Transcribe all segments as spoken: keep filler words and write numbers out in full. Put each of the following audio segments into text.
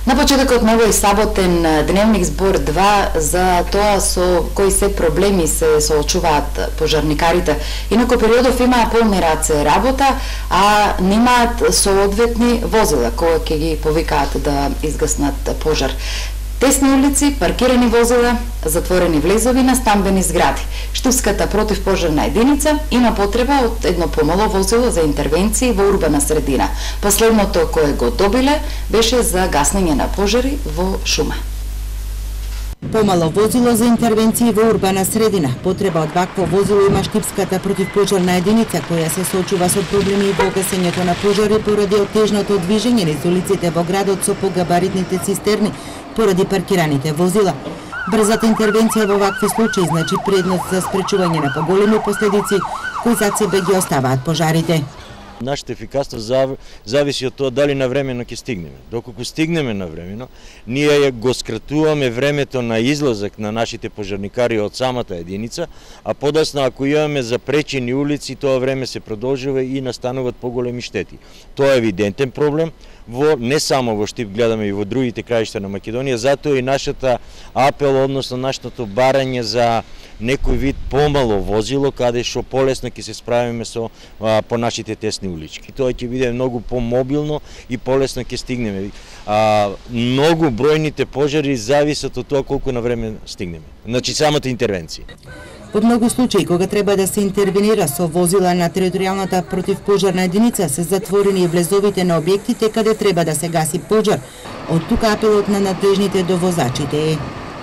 На почетокот на овој саботен дневник збор два за тоа со кои се проблеми се соочуваат пожарникарите. Инаку периодов имаа полни раце работа, а немаат соодветни возила кои ќе ги повикаат да изгаснат пожар. Тесни улици, паркирани возила, затворени влезови на стамбени згради. Штипската противпожарна единица има потреба од едно помало возило за интервенции во урбана средина. Последното кое го добиле беше за гаснење на пожари во шума. Помало возило за интервенции во урбана средина. Потреба од вакво возило има Штипската противпожарна единица, која се соочува со проблеми во гасењето на пожари поради отежното движење низ улиците во градот со погабаритните цистерни, поради паркираните возила. Брзата интервенција во вакви случаи значи предност за спречување на поголеми последици кои зад себе ги оставаат пожарите. Нашата ефикасност зависи од тоа дали навремено ќе стигнеме. Доколку стигнеме навремено, ние го скратуваме времето на излазак на нашите пожарникари од самата единица, а подоцна ако имаме запречени улици, тоа време се продолжува и настануваат поголеми штети. Тоа е евидентен проблем, во не само во Штип, гледаме и во другите краишта на Македонија, затоа и нашата апел, односно нашето барање за некој вид помало возило, каде што полесно ќе се справиме со а, по нашите тесни улички. Тоа ќе биде многу помобилно и полесно ќе стигнеме. А, многу бројните пожари зависат од тоа колку на време стигнеме. Значи самата интервенција. Во многу случаи кога треба да се интервенира со возила на територијалната противпожарна единица се затворени влезовите на објектите каде треба да се гаси пожар. Од тука апелот на надлежните до возачите е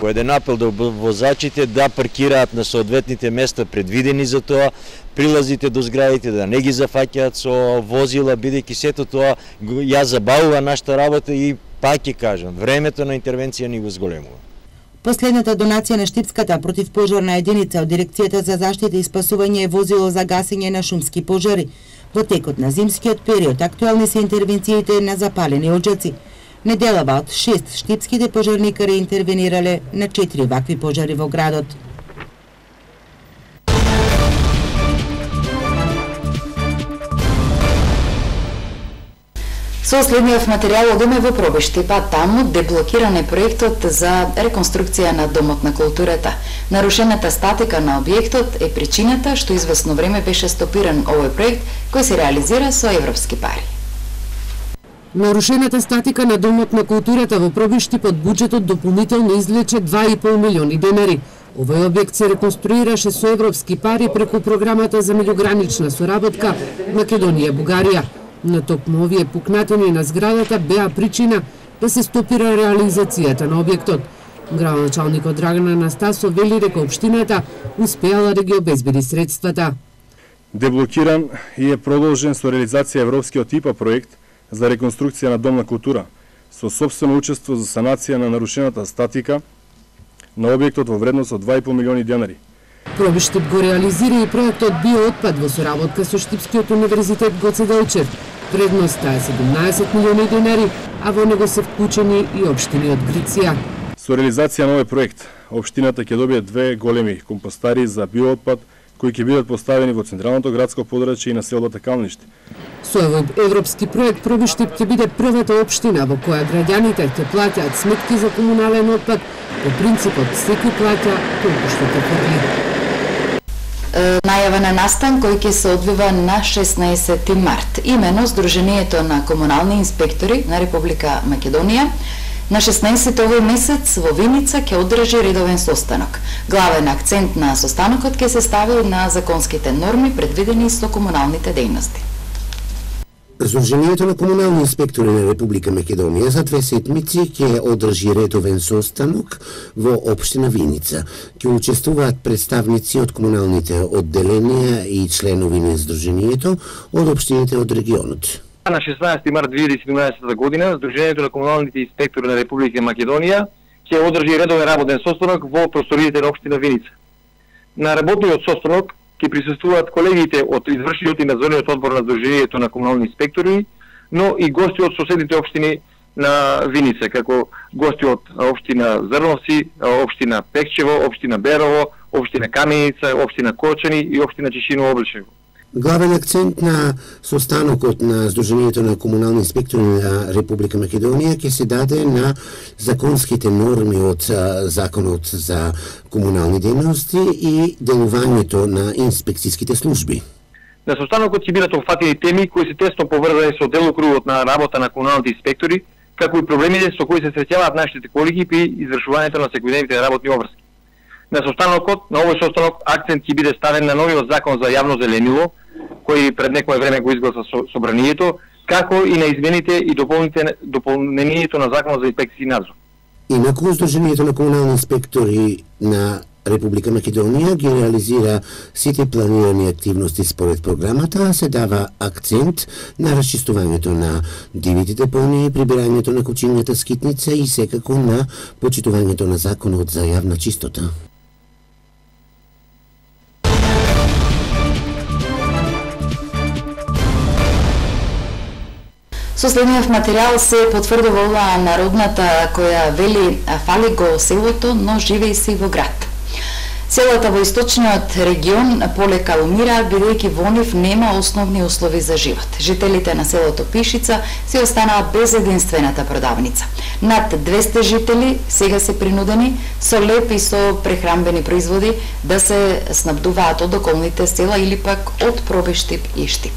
еден апел до возачите да паркираат на соодветните места предвидени за тоа, прилазите до зградите да не ги зафаќаат со возила, бидејќи сето тоа ја забавува нашата работа и пак ќе кажам, времето на интервенција ни го зголемува. Последната донација на Штипската противпожарна единица од Дирекцијата за заштита и спасување е возило за гасење на шумски пожари. Во текот на зимскиот период актуелни се интервенциите на запалени оджаци. Неделава од шест штипските пожарникари интервенирале на четири вакви пожари во градот. Со следниот материјал одиме во Пробишти, па таму деблокиран е проектот за реконструкција на Домот на културата. Нарушената статика на објектот е причината што извесно време беше стопиран овој проект кој се реализира со европски пари. Нарушената статика на Домот на културата во Пробишти под буџетот дополнително извлече два и пол милиони денари. Овој објект се реконструираше со европски пари преку програмата за меѓугранична соработка Македонија-Бугарија. На токму овие пукнатини на зградата беа причина да се стопира реализацијата на објектот. Градоначалникот Драган Анастасов вели дека општината успеала да ги обезбеди средствата. Деблокиран и е продолжен со реализација европскиот ИПА проект за реконструкција на Дом на култура, со собствено учество за санација на нарушената статика на објектот во вредност од два и пол милиони денари. Пробишти го реализира и проектот Биоотпад во соработка со Штипскиот универзитет Гоце Делчев. Вредноста е седумнаесет милиони денари, а во него се вклучени и општини од Гриција. Со реализација на овој проект, општината ќе добие две големи компостари за биоотпад кои ќе бидат поставени во централното градско подрачје и на селото Калниште. Со овој европски проект Пробишти ќе биде првата општина во која граѓаните ќе плаќаат сметки за комунален отпад по принципот секој плаќа колку што ќе фрли. Најава на настан кој ќе се одвива на шеснаесети март. Имено Сдруженијето на комунални инспектори на Република Македонија на шеснаесети овој месец во Виница ќе одржи редовен состанок. Главен акцент на состанокот ќе се стави на законските норми предвидени со комуналните дејности. Сдруженијето на комунални инспектори на Република Македонија за две седмици ќе одржи редовен состанок во општина Виница. Ќе учествуваат представници од комуналните одделенија и членови на Сдруженијето од општините од регионот. На шеснаесети март две илјади и седумнаесета година Сдруженијето на комуналните инспектори на Република Македонија ќе одржи редовен работен состанок во просториите на општина Виница. На работниот состанок ќе присуствуваат колегите од извршниот и надзорниот одбор на Сдруженијето на комунални инспектори, но и гости од соседните општини на Виница, како гости од општина Зрновци, општина Пекчево, општина Берово, општина Каменица, општина Кочани и општина Чешиново Обличево. Главен акцент на состанокот на Сдруженијето на комунални инспектори на Република Македонија ќе се даде на законските норми од Законот за комунални дејности и делувањето на инспекцијските служби. На состанокот ќе бидат опфатени теми кои се тесно поврзани со делокругот на работа на комуналните инспектори, како и проблемите со кои се среќаваат нашите колеги при извршувањето на секојдневните работни обврски. На состанокот, на овој состанок, акцент ќе биде ставен на новиот закон за јавно зеленило, кој пред некое време го изгласа со собранието, како и на измените и дополнението на законот за инспекцијски надзор. Инаку, Сдруженијето на комунални инспектори на Република Македонија ги реализира сите планирани активности според програмата, а се дава акцент на расчистувањето на дивите депонии, прибирањето на кучињата скитница и секако на почитувањето на законот за јавна чистота. Со следниот материјал се потврдува оваа народната која вели фали го селото, но живеи се и во град. Селата во источниот регион полека умираат бидејќи во нив нема основни услови за живот. Жителите на селото Пишица се останаа без единствената продавница. Над двесте жители сега се принудени со леп и со прехранбени производи да се снабдуваат од околните села или пак од Пробиштип и Штип.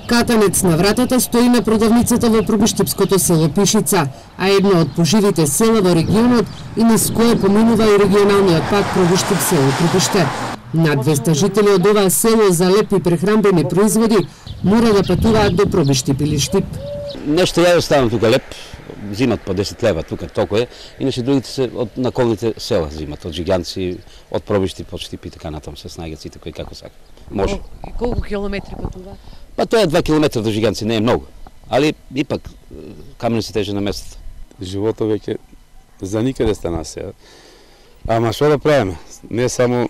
Катанец на вратата стои на продавницата во пробиштипското село Пишица, а едно од поживите села во регионот и низ кое поминува и регионалниот пат Пробиштип село Припиште. Над двесте жители од ова село за лепи прехранбени производи мора да патуваат до Пробиштип или Штип. Нешто ја оставам тука леп, зимат по десет лева тука толку е, иначе другите се од наколните села зимат, од Жиганци, од Пробиштип, од Штип и така натаму се снајгат сите кои како сака. Може. Колку километри патуваат? Па тоа е два километра до Жиганци, не е многу, али ипак камено се теже на местото. Животот веќе за никаде стана сега. Ама што да правиме? Не само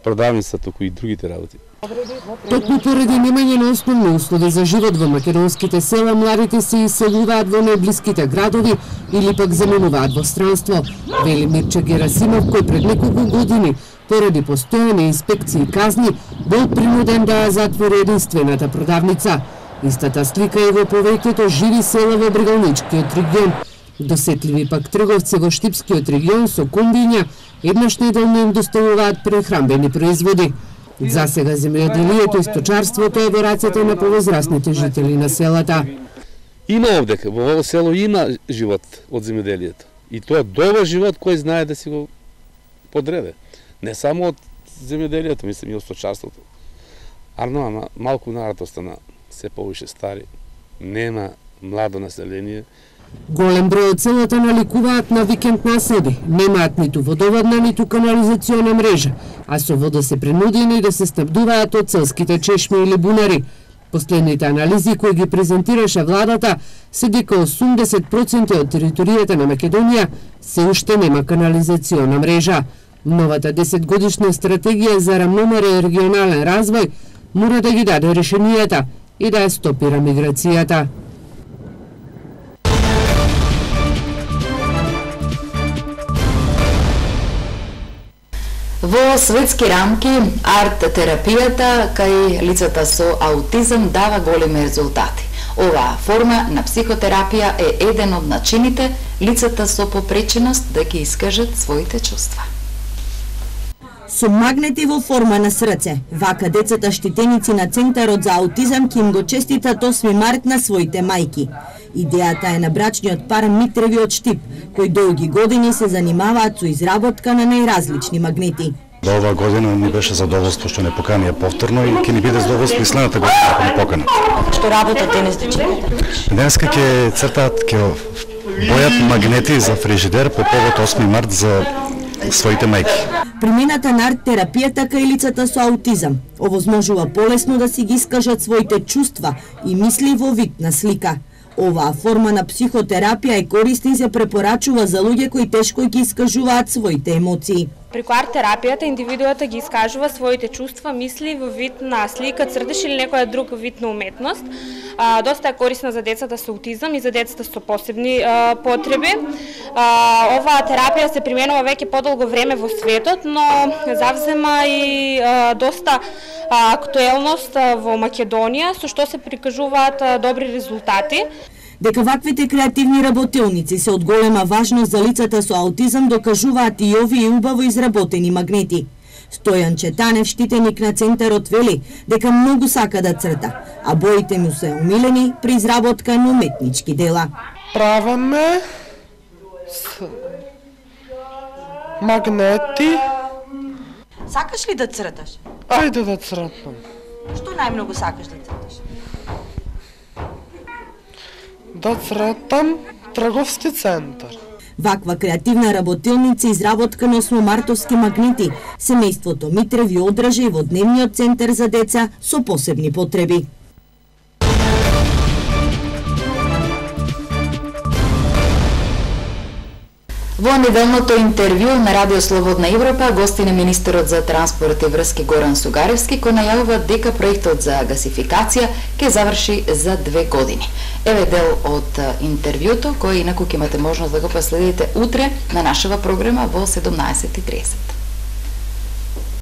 продавница, туку и другите работи. Токму поради немање на основни услови за живот во македонските села, младите се иселуваат во најблиските градови или пак заминуваат во странство, вели Мирче Герасимов, кој пред неколку години поради постојани инспекции и казни бил принуден да затвори единствената продавница. Истата слика е во повеќето живи села во Брегалничкиот регион. Досетливи пак трговци во Штипскиот регион со комбиња еднаш неделно им доставуваат прехранбени производи. За сега земјоделието и сточарството е во рацете на повозрасните жители на селата. Има овде, во ово село има живот од земјоделието. И тоа добар живот кој знае да си го подреде. Не само од земјоделието, мислам и од сточарството. Арно, ама малку народ остана се повише стари. Нема младо население. Голем број од селата наликуваат на викенд населби, немаат ниту водоводна, ниту канализациона мрежа, а со вода се принудени да се снабдуваат од селските чешми или бунари. Последните анализи кои ги презентираше владата се дека осумдесет проценти од територијата на Македонија се уште нема канализациона мрежа. Новата десетгодишна стратегија за рамномерен регионален развој мора да ги даде решенијата и да ја стопира миграцијата. Во светски рамки, арт-терапијата кај лицата со аутизам дава големи резултати. Оваа форма на психотерапија е еден од начините лицата со попреченост да ги искажат своите чувства. Со магнети во форма на срце, вака децата штитеници на Центарот за аутизам ќе им го честитат осми март на своите мајки. Идејата е на брачниот пар Митреви од Штип, кои долги години се занимаваат со изработка на најразлични магнети. До оваа година ни беше задоволство што не поканија повторно и ќе ни биде задоволство и следната година ако ни поканат. Што работат денес дечината? Денеска ќе цртаат, ќе бојат магнети за фрижидер по повод осми март за своите мајки. Примената на арт-терапијата кај лицата со аутизам овозможува полесно да си ги искажат своите чувства и мисли во вид на слика. Оваа форма на психотерапија е корисна и се препорачува за луѓе кои тешко ги искажуваат своите емоции. Преку арт-терапијата индивидуата ги искажува своите чувства, мисли во вид на слика, цртеж или некоја друг вид на уметност. А, доста е корисна за децата со аутизам и за децата со посебни а, потреби. А, оваа терапија се применува веќе подолго време во светот, но завзема и а, доста а, актуелност а, во Македонија, со што се прикажуваат а, добри резултати. Дека ваквите креативни работилници се од голема важност за лицата со аутизам докажуваат и овие убаво изработени магнети. Стојан Четанев, штитеник на центарот, вели дека многу сака да црта, а боите му се умилени при изработка на уметнички дела. Праваме с магнети. Сакаш ли да црташ? Ајде да цртам. Што најмногу сакаш да црташ? Да цртам трговски центар. Ваква креативна работилница изработка на осмомартовски магнети семејството Митреви одржа и во дневниот центар за деца со посебни потреби. Во неделното интервју на Радио Слободна Европа гостине министерот за транспорт и врски Горан Сугаревски кој најавува дека проектот за гасификација ќе заврши за две години. Еве дел од интервјуто кој инаку ќе имате можност да го последите утре на нашава програма во седумнаесет и триесет.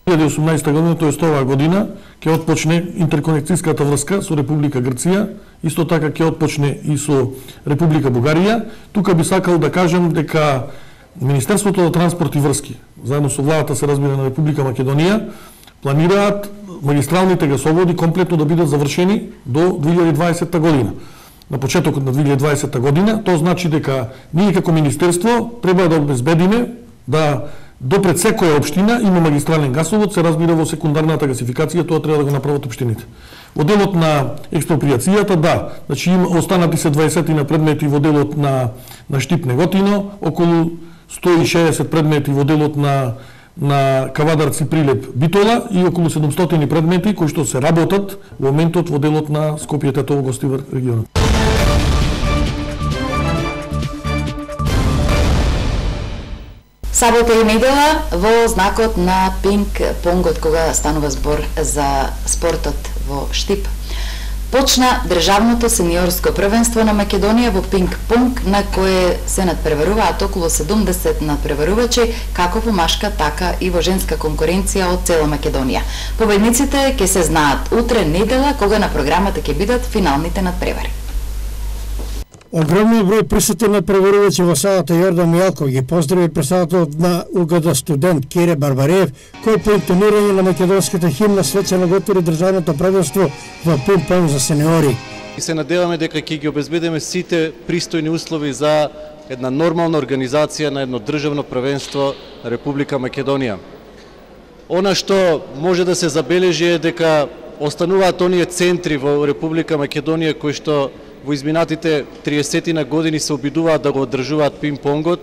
две илјади и осумнаесета година, тоест оваа година, ќе отпочне интерконекцијската врска со Република Грција, исто така ќе отпочне и со Република Бугарија. Тука би сакал да кажам дека Министерството за транспорт и врски, заедно со владата се разбира на Република Македонија, планираат магистралните гасоводи комплетно да бидат завршени до две илјади и дваесета година. На почетокот на две илјади и дваесета година, тоа значи дека ние како министерство треба да обезбедиме да до пред секоја општина има магистрален гасовод, се разбира во секундарната гасификација, тоа треба да го направат општините. Во делот на експроприацијата, да, значи има останати се дваесет на предмети во делот на на Штип Неготино, околу сто и шеесет предмети во делот на на Кавадарци Прилеп Битола и околу седумстотини предмети кои што се работат во моментот во делот на Скопје Тетово Гостивар регионот. Сабота и недела во знакот на пинг-понгот, кога станува збор за спортот во Штип. Почна државното сениорско првенство на Македонија во пинг-понг, на кое се надпреваруваат околу седумдесет надпреварувачи, како во машка, така и во женска конкуренција од цела Македонија. Победниците ќе се знаат утре недела, кога на програмата ќе бидат финалните надпревари. Огромниот број присутни надпреварувачи во салата Јордан Мијалков ги поздрави председателот на УГД студент Кире Барбареев, кој по интонирање на македонската химна свечено го отвори државното првенство во пинг-понг за сениори. И се надеваме дека ќе ги обезбедиме сите пристојни услови за една нормална организација на едно државно првенство на Република Македонија. Она што може да се забележи е дека остануваат оние центри во Република Македонија кои што во изминатите триесет години се обидуваат да го одржуваат пинг-понгот.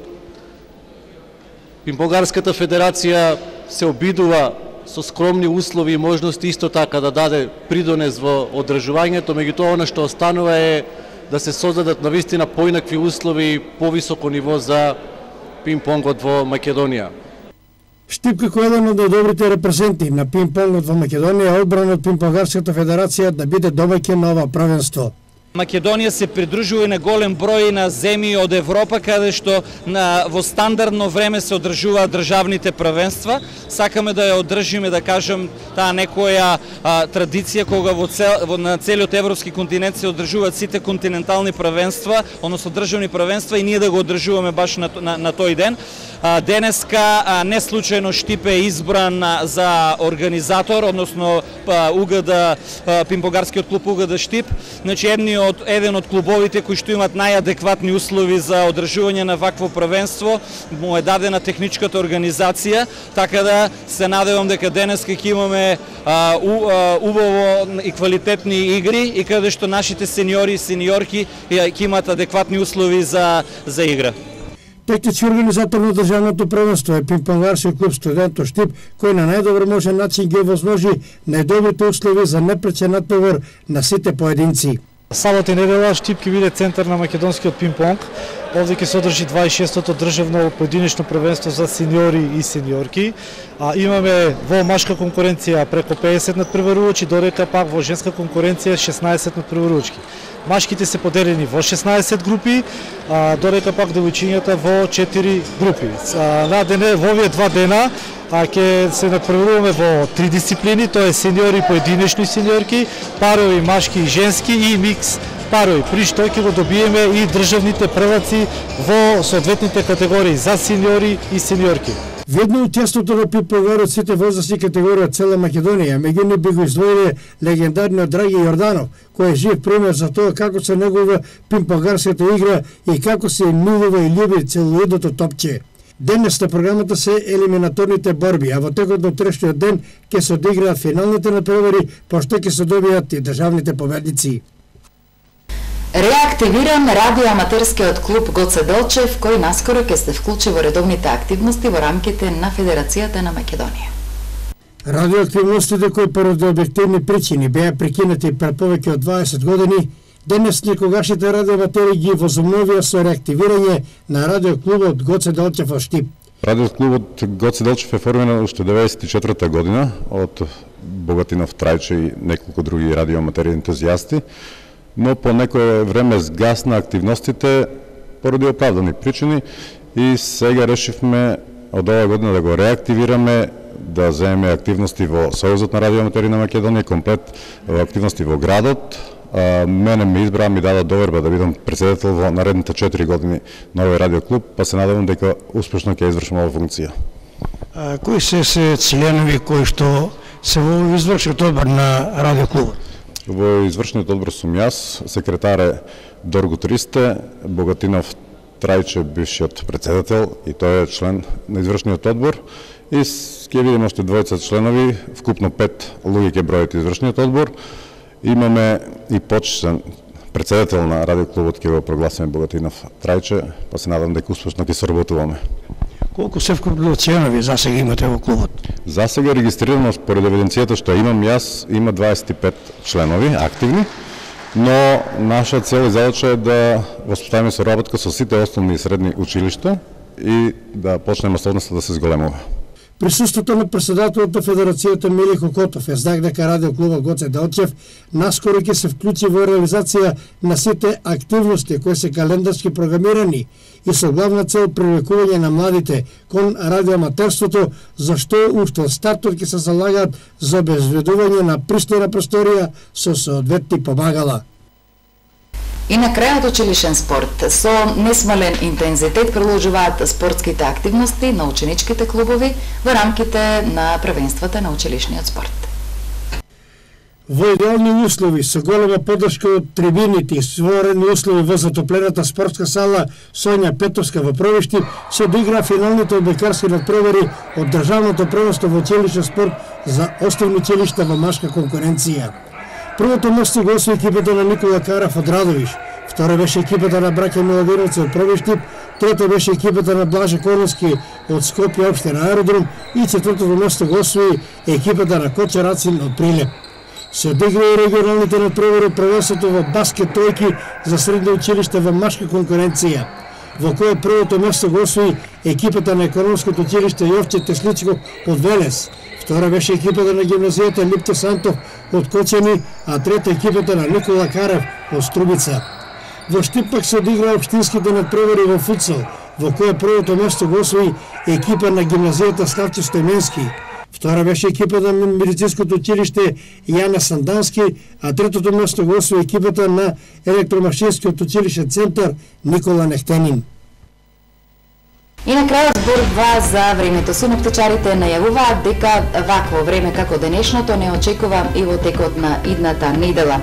Пинг-понгарската федерација се обидува со скромни услови и можности исто така да даде придонес во одржувањето, меѓутоа она што останува е да се создадат навистина поинакви услови и повисоко ниво за пинг-понгот во Македонија. Штип како еден од најдобрите репрезенти на пинг-понгот во Македонија одбран од Пинг-понгарската федерација да биде домаќин на ова првенство. Македонија се придружува на голем број на земји од Европа, каде што на, во стандардно време се одржуваат државните првенства. Сакаме да ја одржиме, да кажем, таа некоја а, традиција кога во, цел, во на целиот европски континент се одржуваат сите континентални првенства, односно државни првенства, и ние да го одржуваме баш на, на, на тој ден. А, денеска а, не случајно Штип е избран а, за организатор, односно УГД, пинг-понгарскиот клуб УГД Штип. Значи едни од еден од клубовите кои што имаат најадекватни услови за одржување на вакво првенство, му е дадена техничката организација, така да се надевам дека денеска ќе имаме а, у, а, убаво и квалитетни игри и каде што нашите сениори и сениорки ќе имаат адекватни услови за за игра. Технички организатор на државното првенство е пинг-понгарскиот клуб Студенто Штип, кој на најдобар можен начин ги возможи најдобрите услови за непречен надпревар на сите поединци. Сабота и недела Штип ќе биде центар на македонскиот пинг-понг. Овде ќе се одржи дваесет и шестото државно поединечно првенство за сениори и сениорки. А имаме во машка конкуренција преку педесет надпреварувачи, додека пак во женска конкуренција шеснаесет надпреварувачки. Машките се поделени во шеснаесет групи, а, додека пак девојчињата во четири групи. А, на дене, во овие два дена а ќе се надпреваруваме во три дисциплини, тоа е сениори поединечни сениорки, парови машки и женски и микс парови, при што ќе го добиеме и државните прваци во соодветните категории за сениори и сениорки. Видно учеството на Пип Погар од сите возрастни категории од цела Македонија, меѓу нив би го издвоиле легендарниот Драги Јорданов, кој е жив пример за тоа како се негува пинг-понгарската игра и како се милува и љуби целоидното топче. Денес на програмата се елиминаторните борби, а во текот на утрешниот ден ќе се одиграат финалните надпревари, пошто ќе се добијат и државните победници. Реактивиран радиоаматерскиот клуб Гоце Делчев, кој наскоро ќе се вклучи во редовните активности во рамките на Федерацијата на Македонија. Радиоактивностите кои поради објективни причини беа прекинати пред повеќе од дваесет години, денес некогашните радиоаматери ги возобновија со реактивирање на радиоклубот Гоце Делчев во Штип. Радиоклубот Гоце Делчев е формиран уште деветдесет и четврта година од Богатинов Трајче и неколку други радиоаматери ентузијасти, но по некое време сгасна активностите поради оправдани причини и сега решивме од оваа година да го реактивираме, да земеме активности во Сојузот на радиоаматери на Македонија, комплет активности во градот. А, мене ме избраа, ми дадат доверба да бидам председател во наредните четири години на овој радиоклуб, па се надевам дека успешно ќе извршам оваа функција. А, кои се се членови кои што се во извршниот одбор на радиоклубот? Во извршниот одбор сум јас, секретар е Доргут Ристе, Богатинов Трајче, бившиот председател, и тој е член на извршниот одбор. И ќе видиме още двојца членови, вкупно пет луѓе ќе бројат извршниот одбор. Имаме и почетен председател на радиоклубот, ќе го прогласиме Богатинов Трајче, па се надам дека успешно ќе соработуваме. Колку се вкупно членови за сега имате во клубот? За сега регистрирано според евиденцијата што имам јас, има дваесет и пет членови активни, но наша цел и задача е да воспитаваме соработка со сите основни и средни училишта и да почне масовноста да се зголемува. Присуството на председателот на Федерацијата Милико Котов е знак дека радиоклубот Гоце Делчев наскоро ќе се вклучи во реализација на сите активности кои се календарски програмирани и со главна цел привлекување на младите кон радиоаматерството, зашто уште од стартот ќе се залагаат за обезбедување на пристојна просторија со соодветни помагала. И на крајот училишен спорт. Со несмален интензитет продолжуваат спортските активности на ученичките клубови во рамките на првенствата на училишниот спорт. Во идеални услови, со голема поддршка од трибините и створени услови во затоплената спортска сала Сонја Петовска во Провишти, се одигра финалните одбекарски надпревари од државното првенство во училишен спорт за основни училишта во машка конкуренција. Првото место го освои екипата на Никола Карав од Радовиш, втора беше екипата на браќа Миладиновци од Провиштип, трета беше екипата на Блаже Коновски од Скопје општина Аеродром и четвртото место го освои екипата на Коча Рацин од Прилеп. Се одигра и регионалните надпревари од првенството во баскет тројки за средно училиште во машка конкуренција, во која првото место го освои екипата на економското училиште Јовче Тесличков од Велес. Втора беше екипата на гимназијата Липто Сантов од Кочани, а трета екипата на Никола Карев од Струбица. Во Штип пак се одигра општинските надпревари во футсал, во која првото место го освои екипа на гимназијата Ставче Стојменски. Втора беше екипата на медицинското училиште Јана Сандански, а третото место го освои екипата на електромашинскиот училишен центар Никола Нехтенин. И на крајот збор два за времето. Синоптичарите најавуваат дека вакво време како денешното не очекува и во текот на идната недела.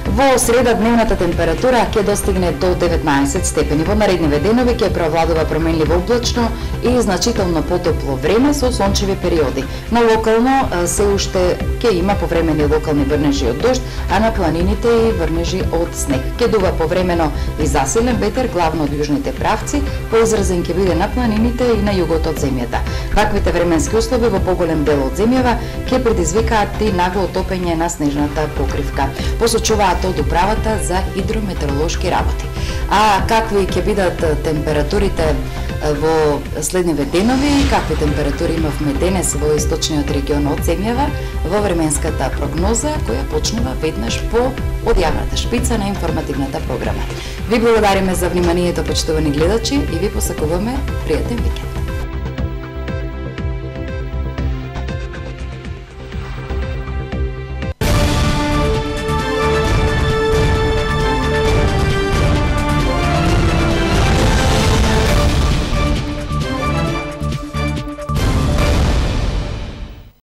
Во среда дневната температура ќе достигне до деветнаесет степени. Во наредниве денови ќе преовладува променливо облачно и значително потопло време со сончеви периоди. На локално се уште ќе има повремени локални врнежи од дожд, а на планините и врнежи од снег. Ќе дува повремено и засилен ветер, главно од јужните правци, поизразен ќе биде на планините и на југот од земјата. Ваквите временски услови во поголем дел од земјава ќе предизвикаат и нагло отопење на снежната покривка. Посочуваат тоа од управата за хидрометеоролошки работи. А какви ќе бидат температурите во следниве денови, какви температури имавме денес во источниот регион од земјава, во временската прогноза која почнува веднаш по одјавната шпица на информативната програма. Ви благодариме за вниманието, почитувани гледачи, и ви посакуваме пријатен викенд.